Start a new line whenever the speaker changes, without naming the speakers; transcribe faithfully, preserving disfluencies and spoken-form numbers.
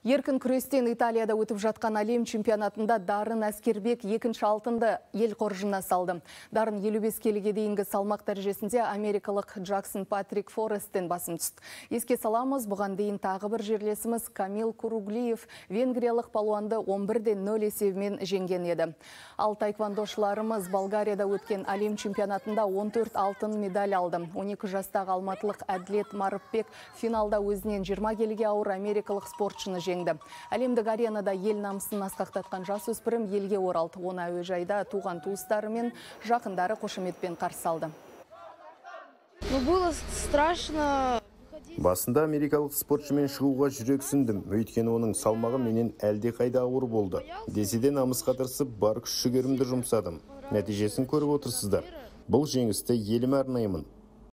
Еркін күрестен Италияда өтіп жатқан әлем чемпионатында Дарын Әскербек екінші алтынды ел қоржынына салды. Дарын елу бес келіге дейінгі салмақ дәрежесінде америкалық Джексон Патрик Форесттен басым түсті. Еске саламыз, бұған дейін тағы бір жерлесіміз Камил Куруглиев венгриялық палуанды он бір де нөл есебімен жеңген еді. Ал таеквондошыларымыз Болгарияда өткен әлем чемпионатында он төрт алтын медаль алды. он екі жастағы алматылық Әділет Марыпбек финалда өзінен жиырма келіге ауыр америкалық спортшыны жеңді. Әлемдік аренада ел намысын асқақтатқан жасөспірім елге оралды. Оны әуежайда туған туыстары мен жақындары қошеметпен қарсы алды.
Было страшно.
Басында америкалық спортшымен шығуға жүрексіндім, өйткені оның салмағы менен әлде қайда ауыр болды. Деседен намысқа тырысып, бар күш-жігерімді жұмсадым. Нәтижесін көріп отырсыздар. Бұл жеңісті еліме арнаймын.